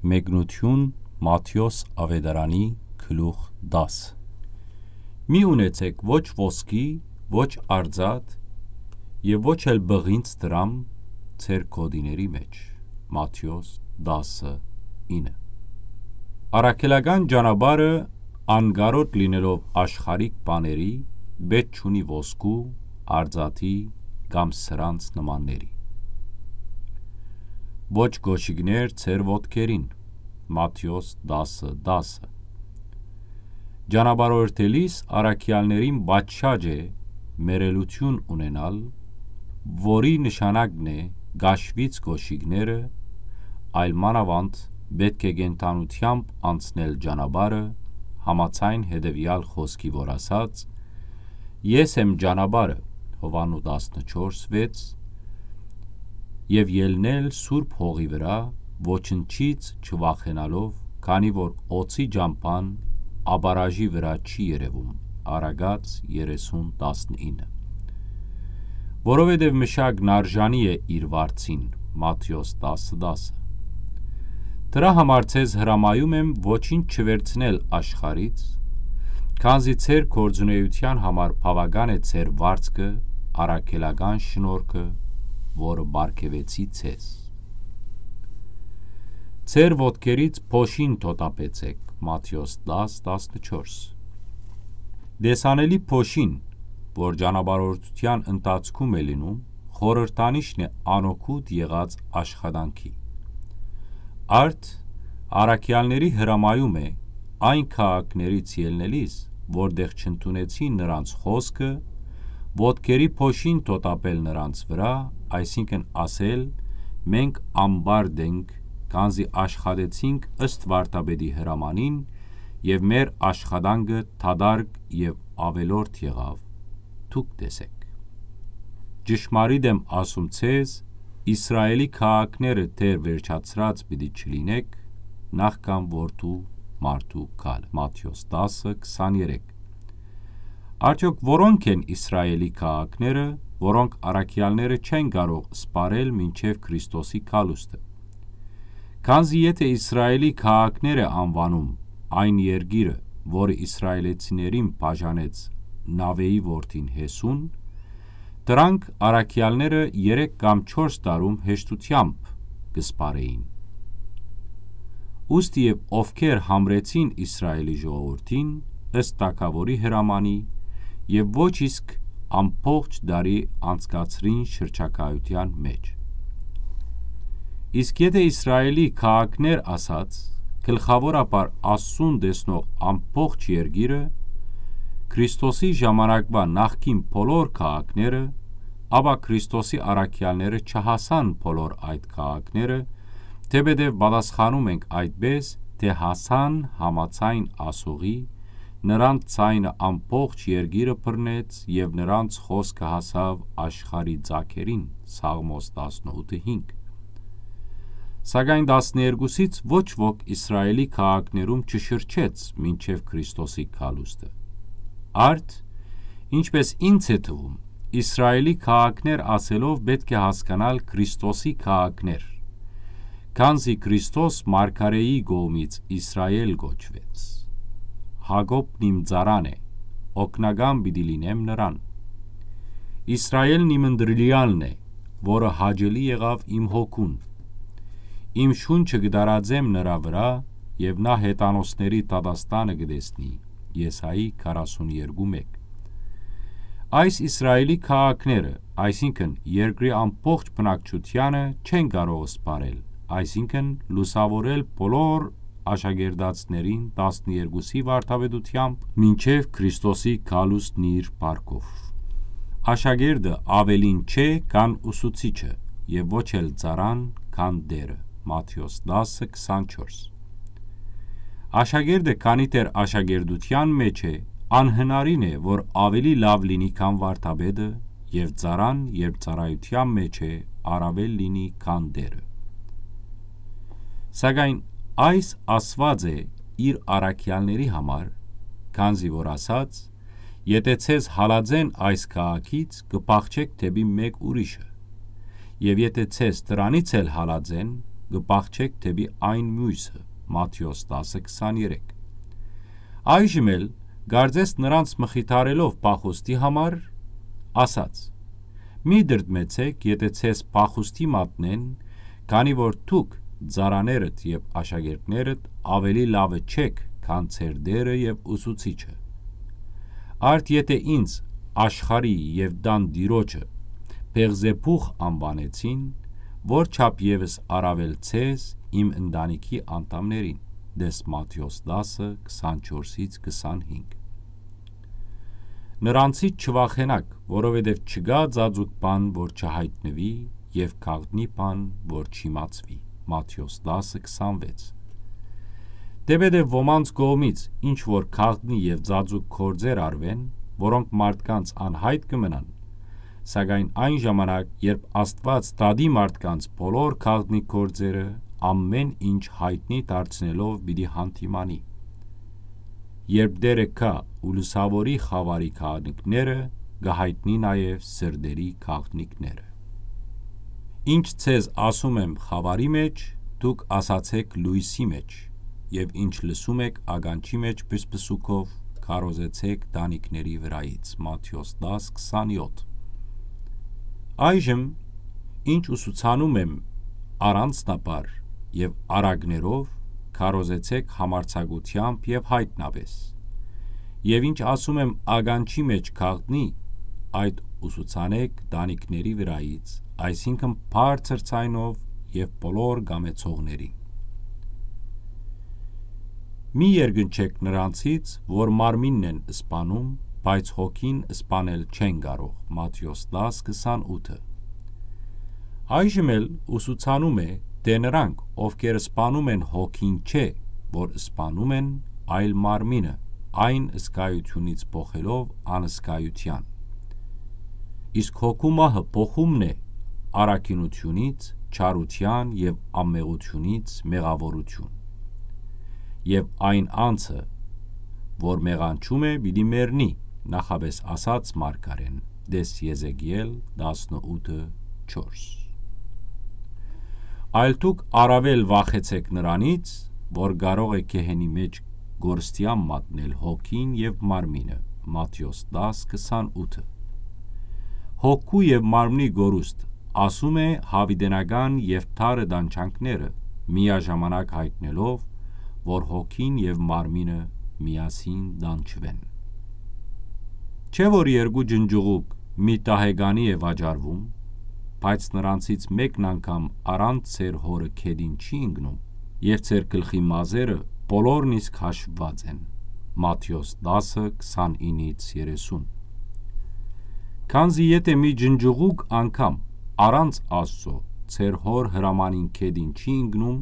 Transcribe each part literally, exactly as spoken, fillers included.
Մեկնութիւն, Մատթէոս աւետարանի գլուխ տաս։ Մի ունեցէք ոչ ոսկի, ոչ արծաթ եւ ոչ էլ պղինձ դրամ ձեր գօտիների մէջ։ Մատթէոս տասը ինը։ Առաքելական ճանապարհը անկարոտ լինելով աշխարհիկ բաների, պէտք չունի ոսկու, արծաթի կամ սրանց նմանների։ Ոչ կօշիկներ ձեր ոտքերին։ Մատթէոս տասը տասը։ Ճանապարհորդելիս առաքեալներին պատշաճ է մեռելութիւն ունենալ, որի նշանակն է կաշվից կօշիկները, այլ մանաւանդ պէտք է կենդանութեամբ անցնել ճանապարհը, համաձայն հետեւեալ խօսքի, որ ասած. «Ես եմ ճանապարհը», Յովհաննու տասնչորս վեց, եւ ելնել սուրբ հողի վրայ, ոչնչից չվախենալով, քանի որ օձի ճամբան ապարաժի վրայ չի երեւում, Առակաց երեսուն տասնինը։ Որովհետեւ մշակն արժանի է իր վարձին, Մատթէոս տասը տասը։ Դրա համար ձեզ հրամայում եմ ոչինչ չվերցնել աշխարհից, քանզի ձեր գործունեության համար բաւական է ձեր վարձքը, առաքելական շնորհքը, որը պարգեւեցի ձեզ։ Ձեր ոտքերից փոշին թոթափեցէք, Մատթէոս տաս տասնչորս։ Տեսանելի փոշին, որ ճանապարհորդության ընթացքում է լինում, խորհրդանիշն է անօգուտ եղած աշխատանքի։ Արդ, առաքեալների հրամայում է այն քաղաքներից ելնելիս, որտեղ չընդունեցին նրանց խօսքը, ոտքերի փոշին թոթափել նրանց վրայ, այսինքն՝ ասել. «Մենք ամբարդ ենք, քանզի աշխատեցինք ըստ վարդապետի հրամանին, եւ մեր աշխատանքը դատարկ եւ աւելորդ եղաւ, դուք տեսէք»։ Ճշմարիտ եմ ասում ձեզ, Իսրայէլի քաղաքները դեռ վերջացրած պիտի չլինէք, նախքան Որդի մարդու գալը։ Մատթէոս տասը քսաներեք։ Արդեօք որո՞նք են Իսրայէլի քաղաքները, որոնք առաքեալները չեն կարող սպառել մինչեւ Քրիստոսի գալուստը։ Քանզի եթէ Իսրայէլի քաղաքներ է անուանում այն երկիրը, որը իսրայէլեցիներին բաժանեց Նաւէի որդին Յեսուն, դրանք առաքեալները երեք կամ չորս տարում հեշտութեամբ կը սպառէին։ Ուստի եւ ովքեր համրեցին Իսրայէլի ժողովուրդին, ըստ թագաւորի հրամանի, եւ ոչ իսկ ամբողջ տարի անցկացրին շրջագայության մէջ։ Իսկ եթէ Իսրայէլի քաղաքներ ասած, գլխաւորաբար Աստծուն տեսնող ամբողջ երկիրը, Քրիստոսի ժամանակվա նախկին բոլոր քաղաքները, ապա Քրիստոսի առաքեալները չհասան բոլոր այդ քաղաքները, թէպետեւ պատասխանում ենք այդպէս, թէ հասան համաձայն ասողի, նրանց ձայնը ամբողջ երկիրը բռնեց եւ նրանց խօսքը հասաւ աշխարհի ծագերին, Սաղմոս տասնութը հինգ։ Սակայն տասներկուսից ոչ ոք Իսրայէլի քաղաքներում չշրջեց մինչեւ Քրիստոսի գալուստը։ Արդ, ինչպէս ինձ է թվում, Իսրայէլի քաղաքներ ասելով պէտք է հասկանալ Քրիստոսի քաղաքներ, քանզի Քրիստոս մարգարէի կողմից Իսրայէլ կոչուեց։ Յակոբն իմ ծառան է, օգնական պիտի լինեմ նրան։ Իսրայէլն իմ ընտրելեալն է, որը հաճելի եղաւ իմ հոգուն։ Իմ շունչը կը տարածեմ նրա վրայ, եւ նա հեթանոսների դատաստանը կը տեսնի, Եսայի քառասուն երկու մէկ։ Այս Իսրայէլի քաղաքները, այսինքն՝ երկրի ամբողջ բնակչությանը, չեն կարող սպառել, այսինքն՝ լուսաւորել բոլոր աշակերտածներին տասներկուսի վարդապետութեամբ մինչեւ Քրիստոսի գալուստն իր փառքով։ Աշակերտը աւելին չէ քան ուսուցիչը, եւ ոչ էլ ծառան քան Տէրը, Մատթէոս տասը քսանչորս։ Աշակերտը քանի դեռ աշակերտության մէջ է, անհնարին է, որ աւելի լաւ լինի քան վարդապետը, եւ ծառան, երբ ծառայութեան մէջ է, առաւել լինի քան Տէրը։ Սակայն այս ասուած է իր առաքեալների համար, քանզի որ ասաց. «Եթէ ձեզ հալածեն այս քաղաքից, կը փախչէք դէպի մէկ ուրիշը, եւ եթէ ձեզ դրանից էլ հալածեն, կը պահչէք դէպի այն միւսը, Մատթէոս տասը քսանեթերեք։ Այժմ էլ, կարծես նրանց մխիթարելով փախուստի համար, ասաց. «Մի դրդմեցէք, եթէ ձեզ փախուստի մատնեն, քանի որ դուք ծառաներդ եւ աշակերտներդ աւելի լաւը չէք, քան ձեր Տէրը եւ Ուսուցիչը։ Արդ եթէ ինձ, աշխարհի եւ տան Տիրոջը, Բեղզեբուղ անուանեցին, ո՞ր չափ եւս առաւել ձեզ, իմ ընտանիքի անդամներին»։ Տես Մատթէոս տասը, քսանչորսից քսանհինգ։ Նրանցից չվախենաք, որովհետեւ չկայ ծածուկ բան, որ չյայտնուի, եւ գաղտնի բան, որ չիմացուի։ Մատթէոս տասը, քսանվեց։ Թէպէտեւ ոմանց կողմից ինչ որ գաղտնի եւ ծածուկ գործեր արուեն, որոնք մարդկանց անյայտ կը մնան, սակայն այն ժամանակ, երբ Աստուած դատի մարդկանց բոլոր գաղտնի գործերը, ամէն ինչ յայտնի դարձնելով պիտի հանդիմանի։ Երբ Տէրը գայ ու լուսաւորի խաւարի գաղտնիքները, կը յայտնի նաեւ սրտերի գաղտնիքները։ Ինչ ձեզ ասում եմ խաւարի մէջ, դուք ասացէք լոյսի մէջ, եւ ինչ լսում էք ականջի մէջ պսպսուկով, քարոզեցէք տանիքների վրայից։ Մատթէոս տաս, քսանեթ։ Այժմ, ինչ ուսուցանում եմ առանձնաբար եւ արագներով, քարոզեցէք համարձակութեամբ եւ յայտնապէս։ Եւ ինչ ասում եմ ականջի մէջ գաղտնի, այդ ուսուցանէք տանիքների վրայից, այսինքն բարձր ձայնով եւ բոլոր գամեցողներին։ Մի երկնչեք նրանցից, որ մարմինն են սպանում, բայց հոգին սպանել չեն կարող։ Մատթէոս տաս, քսանութը։ Այժմ էլ ուսուցանում է, թէ նրանք, ովքեր սպանում են հոգին չէ, որ սպանում են, այլ մարմինը, այն զգայութիւնից փոխելով անզգայութեան։ Իսկ հոգու մահը փոխումն է առաքինութիւնից չարութեան եւ անմեղութիւնից մեղաւորութիւն։ Եւ այն անձը, որ մեղանչում է, պիտի մեռնի, նախապէս ասաց մարգարէն, տես Եզեկիել տասնութը չորս։ Այլ դուք առաւել վախեցէք նրանից, որ կարող է գեհենի մէջ կորստեան մատնել հոգին եւ մարմինը, Մատթէոս տաս, քսանութը։ Հոգու եւ մարմնի կորուստ, ասում է, յաւիտենական եւ թարը տանջանքները, միաժամանակ յայտնելով, որ հոգին եւ մարմինը միասին տանջուեն։ Չէ՞ որ երկու ջնջուղուկ մի տահեկանի է վաճառվում, բայց նրանցից մէկն անգամ առանց ձեր հօրը գետին չի ընկնում, եւ ձեր գլխի մազերը բոլորն իսկ հաշվուած են։ Մատթէոս տասը, քսանինից երեսուն։ Քանզի եթէ մի ջնջուղուկ անգամ առանց Աստծո ձեր հօր հրամանին գետին չի ընկնում,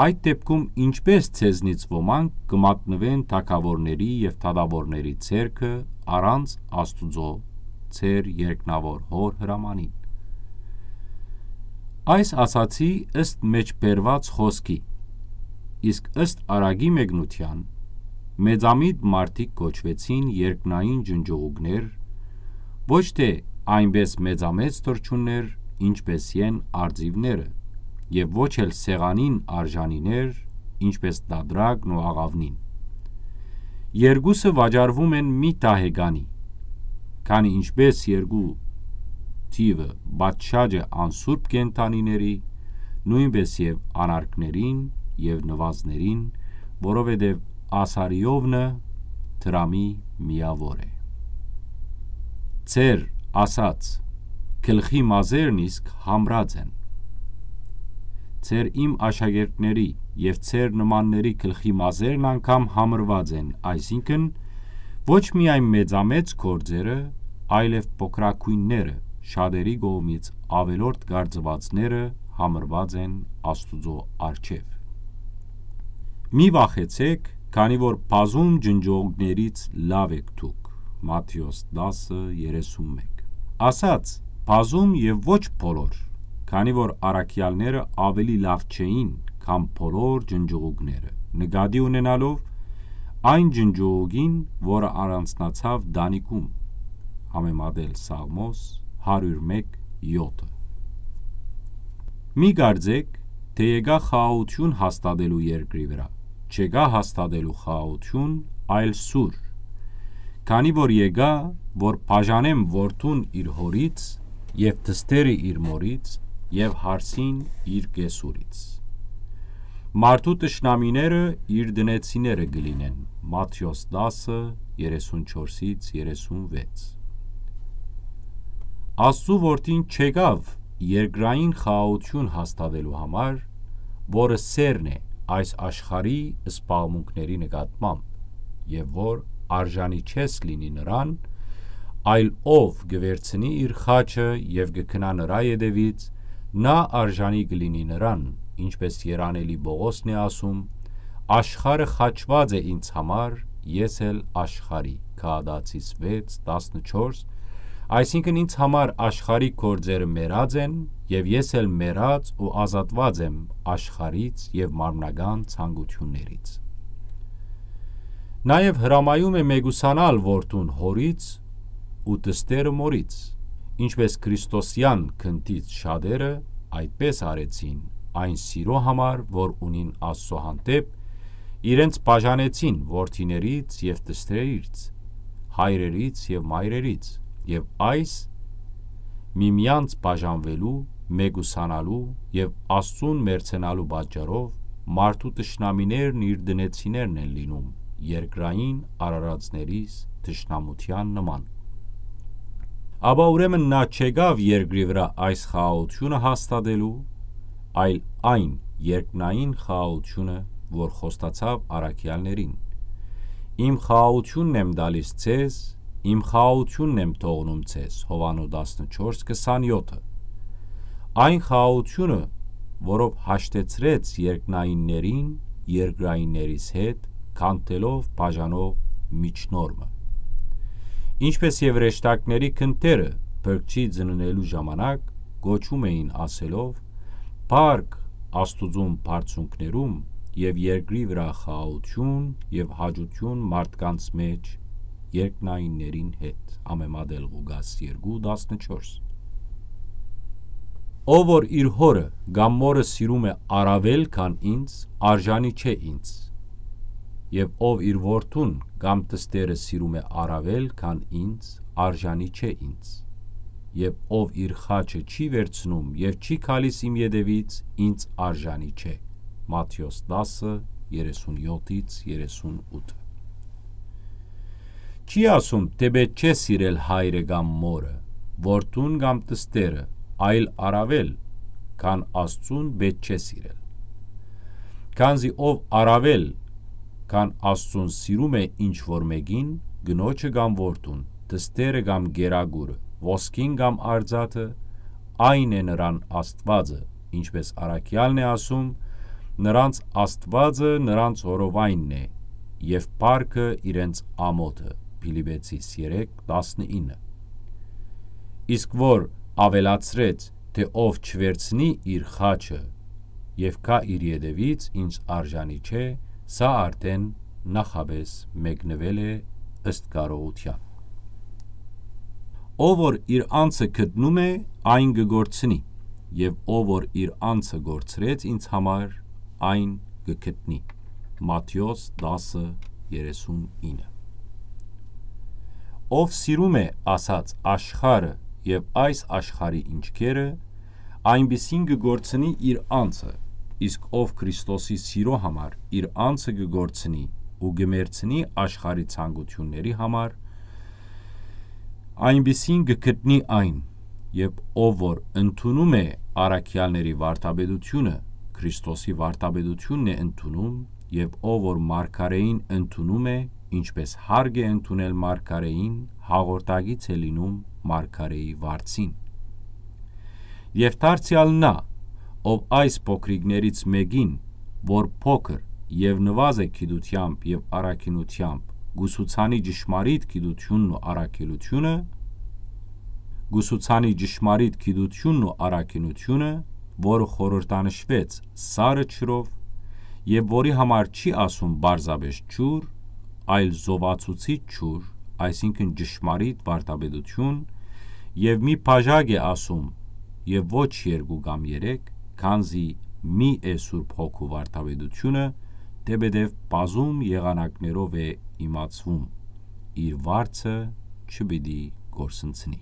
այդ դեպքում ինչպէս ձեզնից ոմանք կը մատնուեն թագաւորների եւ դատաւորների ձեռքը առանց Աստուծոյ, ձեր երկնաւոր Հօր հրամանին։ Այս ասացի ըստ մէջ բերուած խօսքի, իսկ ըստ Արագի մեկնութեան, մեծամիտ մարդիկ կոչուեցին երկնային ջնջուղուկներ, ոչ թէ այնպէս մեծամեծ թռչուններ, ինչպէս են արծիւները, եւ ոչ էլ սեղանին արժանիներ, ինչպէս տատրակն ու աղաւնին։ Երկուսը վաճառվում են մի տահեկանի, քանի ինչպէս երկու թիւը պատշաճ է անսուրբ կենդանիների, նոյնպէս եւ անարգներին եւ նուազներին, որովհետեւ ասարիովնը դրամի միաւոր է։ Ձեր ասած գլխի մազերն իսկ համրած են։ Ձեր իմ աշակերտների եւ ձեր նմանների գլխի մազերն անգամ համրված են, այսինքն, ոչ միայն մեծամեծ գործերը, այլեւ փոքրագոյնները, շատերի կողմից աւելորդ կարծուածները համրված են Աստուծոյ առջեւ։ Մի վախեցէք, քանի որ բազում ջնջողներից լաւ էք դուք։ Մատթէոս տասը, երեսուն մէկ։ Ասաց, բազում եւ ոչ բոլոր, քանի որ առաքեալները աւելի լաւ չէին, քան բոլոր ջնջուղուկները, նկատի ունենալով այն ջնջուղուկին, որը առանձնացաւ տանիքում, համեմատել Սաղմոս հարիւր մէկ, յոթը։ Մի կարծէք, թէ եկայ խաղաղութիւն հաստատելու երկրի վրայ, չեկայ հաստատելու խաղաղութիւն, այլ սուր։ Քանի որ եկայ, որ բաժանեմ որդուն իր հօրից, եւ թստերը իր մօրից, եւ հարսին իր կեսուրից։ Մարդու թշնամիները իր տնեցիները կը լինեն, Մատթէոս տասը, երեսուն չորսից երեսուն վեց։ Աստուծոյ որդին չեկաւ երկրային խաղաղութիւն հաստատելու համար, որը սերն է այս աշխարհի սպաղմունքների նկատմամբ, եւ որ արժանի չես լինի նրան, այլ ով կը վերցնի իր խաչը եւ կը գնայ նրա ետեւից, նա արժանի կը լինի նրան, ինչպէս երանելի Պողոսն է ասում. «Աշխարհը խաչուած է ինձ համար, ես էլ աշխարհի», Գաղատացիս վեց, տասնչորս, այսինքն՝ ինձ համար աշխարհի գործերը մեռած են, եւ ես էլ մեռած ու ազատուած եմ աշխարհից եւ մարմնական ցանկութիւններից։ Նաեւ հրամայում է մեկուսանալ որդուն հօրից ու թստերը մօրից, ինչպէս Քրիստոսեան գնդից շատերը այդպէս արեցին, այն սիրո համար, որ ունին Աստուծոյ հանդէպ, իրենց բաժանեցին որդիներից եւ թստրերից, հայրերից եւ մայրերից, եւ այս միմեանց բաժանուելու, մեկուսանալու եւ Աստուծուն մերձենալու պատճառով մարդու թշնամիներն իր տնեցիներն են լինում, երկրային արարածներիս թշնամութեան նման։ Ապա ուրեմն նա չեկաւ երկրի վրայ այս խաղաղութիւնը հաստատելու, այլ այն երկնային խաղաղութիւնը, որ խոստացաւ առաքեալներին. «Իմ խաղաղութիւնն եմ տալիս ձեզ, իմ խաղաղութիւնն եմ թողնում ձեզ», Յովհաննէս տասնչորս քսանեօթը։ Այն խաղաղութիւնը, որով հաշտեցրեց երկնայիններին երկրայիններիս հետ, քանդելով բաժանող միջնորմը։ Ինչպէս եւ հրեշտակների քնտերը փրկչի ծնունելու ժամանակ կոչում էին ասելով. «Փառք Աստուծուն բարձունքներում եւ երկրի վրայ խաղաղութիւն եւ հաճութիւն մարդկանց մէջ երկնայիններին հետ»։ Ամեմատել Ղուկաս երկու տասնչորս։ Ով որ իր հօրը կամ մօրը սիրում է առաւել քան ինձ, արժանի չէ ինձ, եւ ով իր որդուն կամ թստերը սիրում է առաւել քան ինձ, արժանի չէ ինձ, եւ ով իր խաչը չի վերցնում եւ չի գալիս իմ ետեւից, ինձ արժանի չէ։ Մատթէոս տասը, երեսուն յոթից երեսուն ութ։ Չի ասում, թէ պէտք չէ սիրել հայրը կամ մօրը, որդուն կամ թստերը, այլ առաւել քան Աստուծուն պէտք չէ սիրել։ Քանզի ով առաւել քան Աստուծուն սիրում է ինչ որ մէկին, կնոջը կամ որդուն, թստերը կամ կերակուրը, ոսկին կամ արծաթը, այն է նրան Աստուածը, ինչպէս առաքեալն է ասում. «Նրանց Աստուածը նրանց հորովայնն է, եւ փառքը իրենց ամօթը»։ Փիլիպեցիս երեք տասնինը։ Իսկ որ աւելացրեց, թէ «Ով չվերցնի իր խաչը եւ գայ իր ետեւից, ինձ արժանի չէ», սա արդէն նախապէս մեկնուել է ըստ կարողութեան։ «Ով որ իր անձը գտնում է, այն կը կորցնի, եւ ով որ իր անձը կորցրեց ինձ համար, այն կը գտնի»։ Մատթէոս տասը, երեսուն ինը։ Ով սիրում է ասած աշխարհը եւ այս աշխարհի ինչքերը, այնպիսին կը կորցնի իր անձը, իսկ ով Քրիստոսի սիրո համար իր անձը կը կորցնի ու կը մերցնի աշխարհի ցանկութիւնների համար, այնպիսին կը գտնի այն, եւ ով որ ընդունում է առաքեալների վարդապետությունը, Քրիստոսի վարդապետությունն է ընդունում, եւ ով որ մարգարէին ընդունում է, ինչպէս հարգ է ընդունել մարգարէին, հաղորդակից է լինում մարգարէի վարձին։ Եւ դարձեալ նա, ով այս փոքրիկներից մէկին, որ փոքր եւ նուազ է գիտութեամբ եւ առաքինութեամբ, կուսուցանի ճշմարիտ գիտությունն ու առաքելությունը, կուսուցանի ճշմարիտ գիտությունն ու առաքինությունը, որը խորհրդանշվեց սառը ջրով, եւ որի համար չի ասում պարզապէս ջուր, այլ զովացուցիչ ջուր, այսինքն ճշմարիտ վարդապետություն, եւ մի բաժակ է ասում, եւ ոչ երկու կամ երեք, քանզի միէ Սուրբ Հոգու վարդապետութիւնը, թէպէտեւ բազում եղանակներով է իմացուում, իր վարձը չպիտի կորսնցնի։